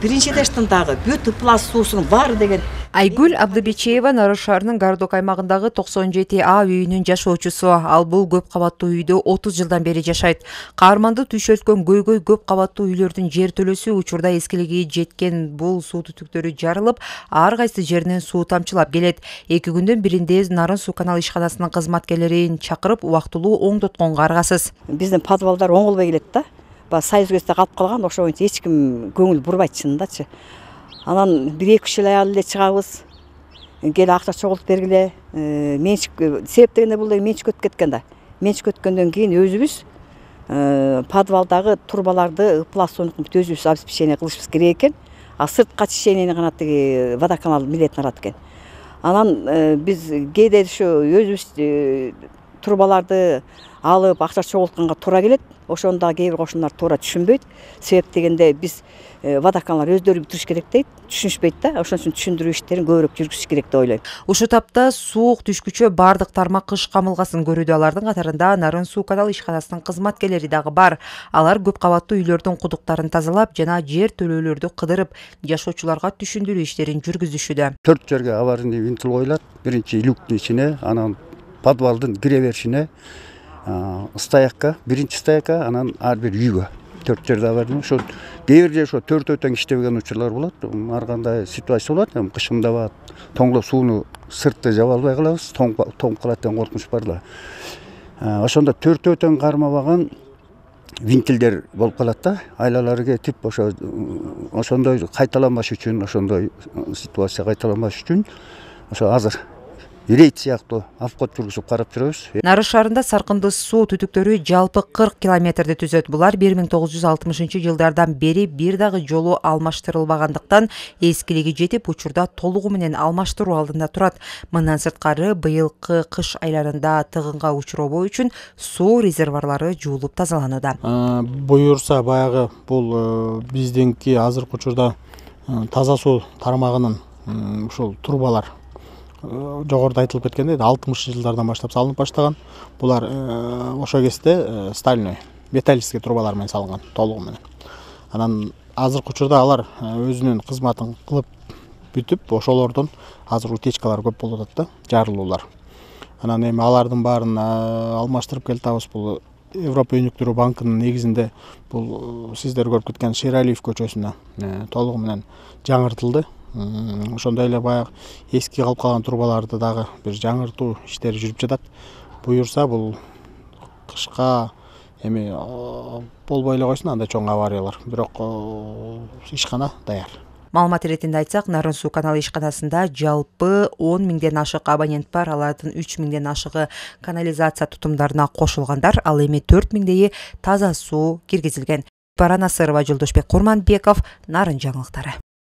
биринчи этаждан дагы бүт ыплас суусунун баары деген. Айгүл Абдыбечеева Нарын шаарынын Гардок аймагындагы 97А үйүнүн жашоочусу. Ал бул көп кабаттуу үйдө 30 жылдан бери жашайт. Каарманды түйшөлткөн көйгөй көп кабаттуу үйлөрдүн жер төлөсү учурда эскилиги жеткен бул суу түтүктөрү жарылып, ар кайсы жеринен суу тамчылап келет. 2 күндөн биринде Нарын суу канал ишканасынын кызматкерлерин чакырып, убактылуу оңдотконго аргасыз. Биздин подвалдар оңолбой келет да. Сай өзгөстө калып калган, ошого эч ким көңүл бурбайт чынындачы. Анан 1-2 ел эле чыгабыз. Кел акча чогултуп бергиле. Менчик себеп дегенде бул менчик өтүп кеткен да. Менчик өткөндөн кийин өзүбүз подвалдагы турбаларды ыплас суунун өзүбүз обеспечение кылышыбыз керек экен. А сыртка очищениени гана тиги водоканал билетін алат экен. Анан биз кээде ошо өзүбүз турбаларды алып акча чогултканга туура келет. Ошону дагы кээ бир кошуналар туура түшүнбөйт. Себеп дегенде биз водоканалар өздөрү бүтүрүш керек дейт, түшүнүшпөйт да. Ошон үчүн түшүндүрүү иштерин көбүрөөк жүргүзүш керек деп ойлойм. Ушул тапта суук түшкүчө бардык тармак кыш камылгасын көрүүдө. Алардын катарында Нарын суу канал ишканасынын кызматкерлери дагы бар. Алар көп кабаттуу үйлөрдүн кудуктарын тазалап жана жер төлөөлөрдү кыдырып, жашоочуларга түшүндүрүү иштерин жүргүзүшүдө. 4 жерге аварийный винтил коюлат. Биринчи люктун ичине, анан подвалдын кире беришине, стоякка, биринчи стоякка, анан ар бир үйгө 4 жерде аварийный. Ошо кээ бир ошо төртөө тең иштебеген учурлар болот. Ар кандай ситуация болот. Кышымдабат, тоңдоп сууну сыртты жаба албай калабыз. Тоңуп калат деген коркунуч бар да. Ошондо төртөө тең кармабаган винтилдер болуп калат да. Айлалары кетип, ошондой кайталанбаш үчүн, ошондой ситуация кайталанбаш үчүн ошо азыр рейд сыяктуу обход жүргүзүп карап жүрөбүз. Нарын шаарында саркынды суу түтүктөрү жалпы 40 километрди түзөт. Булар 1960-жылдардан бери бир дагы жолу алмаштырылбагандыктан эскилиги жетип, учурда толугу менен алмаштыруу алдында турат. Мындан сырткары быйылкы кыш айларында тыгынга учуробоо үчүн суу резервуарлары жуулуп тазаланууда. Буюрса баягы бул биздинки азыркы учурда таза суу тармагынын ушул турбалар жогоруда айтылып кеткендей 60-жылдардан баштап салынып баштаган. Булар ошо кезде стальной, металлический трубалар менен салынган, толугу менен. Анан азыркы учурда алар өзүнүн кызматын кылып бүтүп, ошолордон азыр утечкалар көп болуп атат да, жарылуулар. Анан эми алардын баарын алмаштырып келатабыз. Бул Европа өнүктүрүү банкынын негизинде бул сиздер көрүп кеткен Шералиев көчөсүнө толугу менен жаңыртылды. Ошондой эле баягы эски калып калган турбаларды дагы бир жаңыртуу иштери жүрүп жатат. Буюрса бул кышка эми болбой эле койсун андай чоң авариялар. Бирок ишкана даяр. Маалымат иретинде айтсак, Нарын суу каналы ишканасында жалпы 10 миңден ашык абонент бар. Алардын 3 миңден ашыгы канализация тутумдарына кошулгандар, ал эми 4 миңдейи таза суу киргизилген. Барана Сырова, Жолдошбек Курманбеков, Нарын жаңылыктары.